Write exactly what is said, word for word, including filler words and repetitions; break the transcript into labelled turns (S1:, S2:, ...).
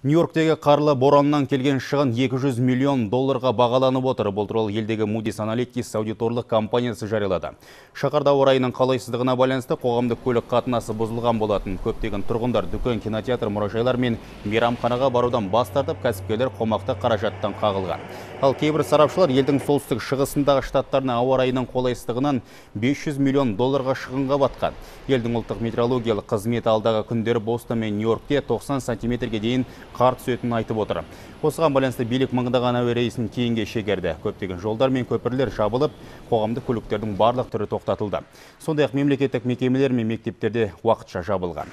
S1: Нью-Йорктегі қарлы бораннан келген шығын екі жүз миллион долларға бағаланып отыр. Бұл туралы елдегі Moody's Analytics аудиторлық компаниясы жариялады. Шаһарда ауа райының қолайсыздығына байланысты қоғамдық көлік қатынасы бұзылған болатын. Көптеген тұрғындар дүкен, кинотеатр, мұражайлар мен мейрамханаға барудан бас тартып, кәсіпкерлер қомақты қаражаттан қағылған. Ал кейбір сарапшылар елдің солтүстік шығысындағы штаттарына ауа райының қолайсыздығынан бес жүз миллион долларға шығынға батқан. Елдің ұлттық метеорологиялық қызметі алдағы күндері Бостон мен Нью-Йоркте тоқсан сантиметрге дейін қар түсетінін айтып отыр. Осыған байланысты билік мыңдаған әуе рейсін кейінге шегерді. Көптеген жолдар мен көпірлер жабылып, қоғамдық көліктердің барлық түрі тоқтатылды. Сондай-ақ мемлекеттік мекемелер мен мектептерде уақытша жабылған.